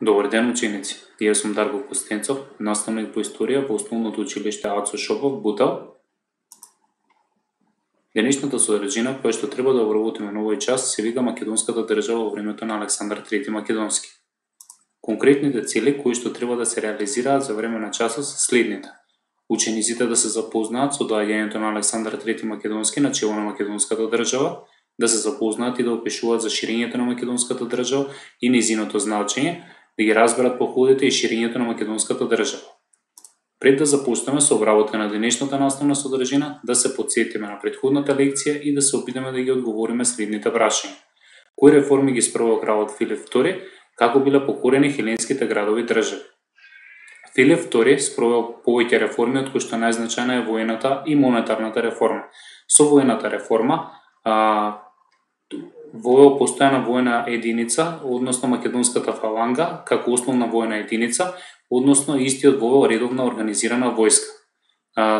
Добар ден, ученици! Јас сум Дарко Костенцов, наставник по историја во Основното училиште Ацо Шопов, Бутал. Денешната содржина која што треба да обработиме на овој час се вика Македонската држава во времето на Александар III Македонски. Конкретните цели кои што треба да се реализираат за време на часот се следните: учениците да се запознаат со доаѓањето на Александар III Македонски на чело на Македонската држава, да се запознаат и да опишуваат за ширењето на Македонската држава и нејзиното значење, да ги разберат походите и ширењето на Македонската држава. Пред да започнеме со обработка на денешната наставна содржина, да се потсетиме на претходната лекција и да се опитаме да ги одговориме следните прашања. Кои реформи ги спровел кралот Филип II, како биле покорени хеленските градови држави? Филип II спровел повеќе реформи, од кои што најзначајна е воената и монетарната реформа. Со воената реформа вовел постојана воена единица, односно македонската фаланга, како основна воена единица, односно истиот вовел редовна организирана војска.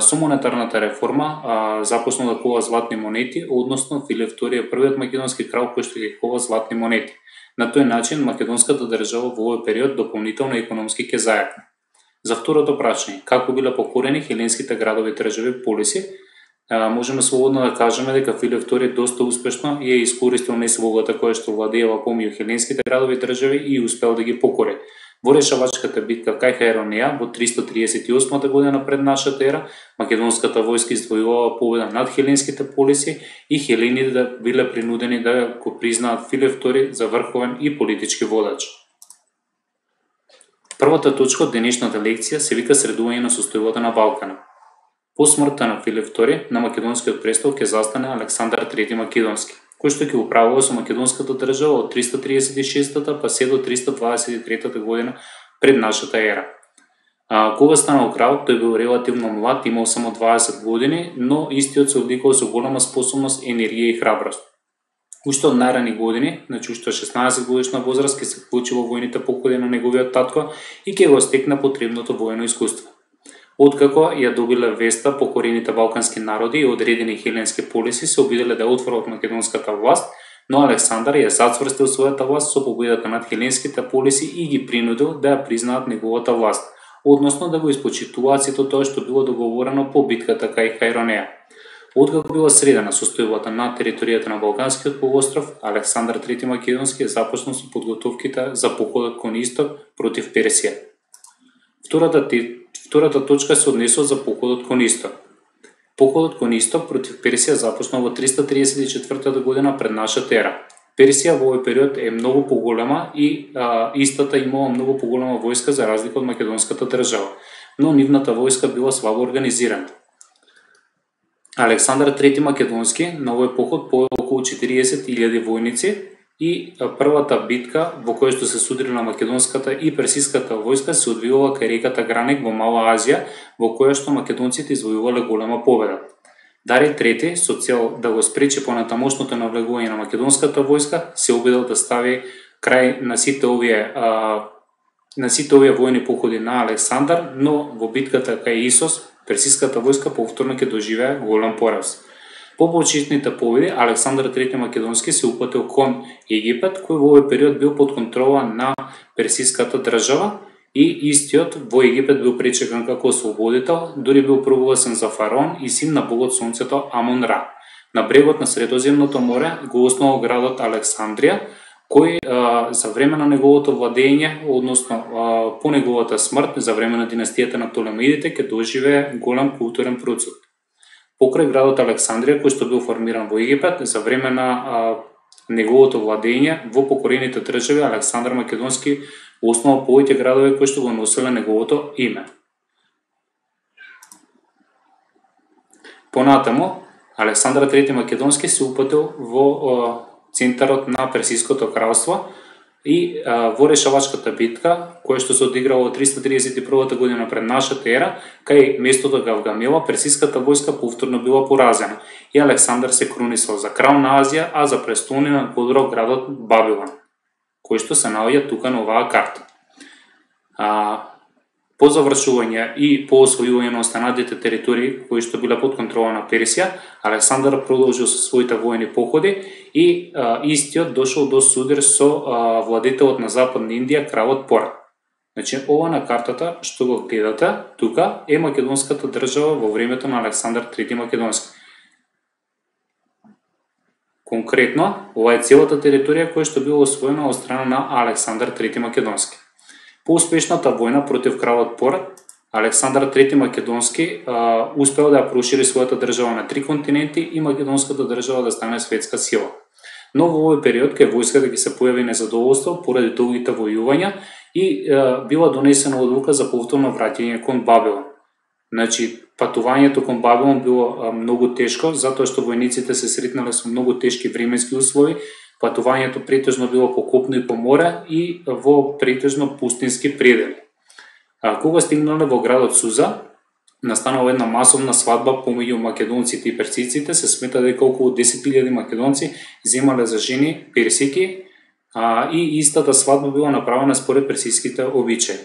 Со монетарната реформа започна да кува златни монети, односно Филип II е првиот македонски крал кој што ги кува златни монети. На тој начин македонската држава во овој период дополнително економски ќе зајакне. За второто прашање, како биле покорени хеленските градови држави полиси, можеме слободно да кажеме дека Филип II доста успешно ја искористил несвободата која што владеела помеѓу хеленските градови држави и успел да ги покори. Во решавачката битка кај Хаеронеја во 338 година пред нашата ера, македонската војска извојувала победа над хеленските полиси и хелените биле принудени да го признаат Филип II за врховен и политички водач. Првата точка од денешната лекција се вика средување на состојбата на Балкана. По смртта на Филип II, на македонскиот престол ќе застане Александар III Македонски, кој што ќе управува со македонската држава од 336 па се до 323 година пред нашата ера. Кога станал крал, тој бил релативно млад, имал само 20 години, но истиот се одликувал со голема способност, енергија и храброст. Уште од најрани години, значи уште 16 годишна возраст, ќе се вклучи во војните походи на неговиот татко и ќе го стекне потребното воено искуство. Откако ја добиле веста покорените балкански народи и одредени хеленски полиси се обиделе да отворат македонската власт, но Александар ја зацврстил својата власт со победата над хеленските полиси и ги принудил да ја признаат неговата власт, односно да го испочитуваат сето тоа што било договорено по битката кај Хаеронеја. Откако била средена состојбата на територијата на Балканскиот полуостров, Александар III Македонски започнал со подготовките за походот кон исток против Персија. Втората точка се однесува за походот кон исток. Походот кон исток против Персија започнал во 334 година пред нашата ера. Персија во овој период е многу поголема и истата имала многу поголема војска за разлика од македонската држава, но нивната војска била слабо организирана. Александар III Македонски на овој поход повел околу 40.000 војници и првата битка во која што се судрила македонската и персиската војска се одвивала кај реката Граник во Мала Азија, во која што македонците извојувале голема победа. Дарий III, со цел да го спречи понатамошното навлегување на македонската војска, се обидел да стави крај на сите овие војни походи на Александар, но во битката кај Исос, персиската војска повторно ќе доживее голем пораз. По почетните победи, Александар III Македонски се упатил кон Египет, кој во овој период бил под контрола на персиската држава и истиот во Египет бил пречекан како ослободител, дури бил прогласен за фараон и син на богот сонцето Амон Ра. На брегот на Средоземното море го основал градот Александрија, кој за време на неговото владење, односно по неговата смрт, за време на династијата на Птолемеидите, ќе доживее голем културен процес. Покрај градот Александрија, кој што бил формиран во Египет, за време на неговото владење во покорените држави, Александар Македонски основал повеќе градови кои што го носеле неговото име. Понатаму, Александар III Македонски се упатил во центарот на Персиското кралство и во решавачката битка, која што се одиграла во 331 година пред нашата ера, кај местото Гавгамела, персиската војска повторно била поразена и Александар се крунисал за крал на Азија, а за престолнина го одбрал градот Бабилон, кој што се наоѓа тука на оваа карта. По завршување и по освојување на останатите територии кои што биле под контрола на Персија, Александар продолжил со своите воени походи и истиот дошол до судир со владетелот на Западна Индија, кралот Порат. Значи, ова на картата што го гледате тука е македонската држава во времето на Александар III Македонски. Конкретно, ова е целата територија која што била освоена од страна на Александар III Македонски. По успешната војна против кралот Порат, Александар III Македонски успел да ја прошири својата држава на 3 континенти и македонската држава да стане светска сила. Но во овој период кај војската ќе се појави незадоволство поради долгите војувања и била донесена одлука за повторно враќање кон Бабилон. Значи, патувањето кон Бабилон било многу тешко, затоа што војниците се сретнале со многу тешки временски услови. Патувањето претежно било по копно и по море и во претежно пустински предели. Кога стигнале во градот Суза, настанала една масовна свадба помеѓу македонците и персиците. Се смета дека околу 10.000 македонци земале за жени персики и истата свадба била направена според персиските обичаи.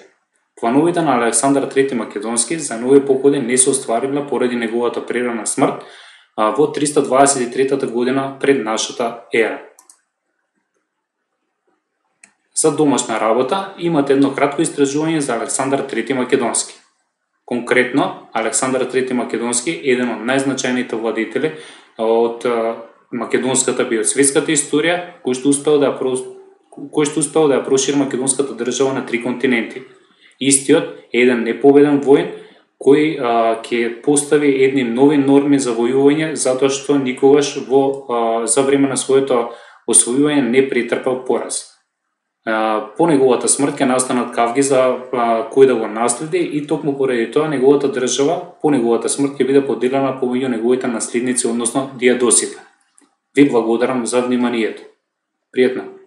Плановите на Александар III Македонски за нови походи не се оствариле поради неговата прерана смрт во 323 година пред нашата ера. За домашна работа имате едно кратко истражување за Александар III Македонски. Конкретно, Александар III Македонски е еден од најзначајните владетели од македонската биосветската историја, кој што успел да ја прошири македонската држава на 3 континенти. Истиот е еден непобеден воин кој ќе постави едни нови норми за војување, затоа што никогаш за време на своето освојување не претрпел пораз. По неговата смрт ќе настанат кавги за кој да го наследи и токму поради тоа неговата држава по неговата смрт ќе биде поделена помеѓу неговите наследници, односно дијадосите. Ви благодарам за вниманието. Пријатно!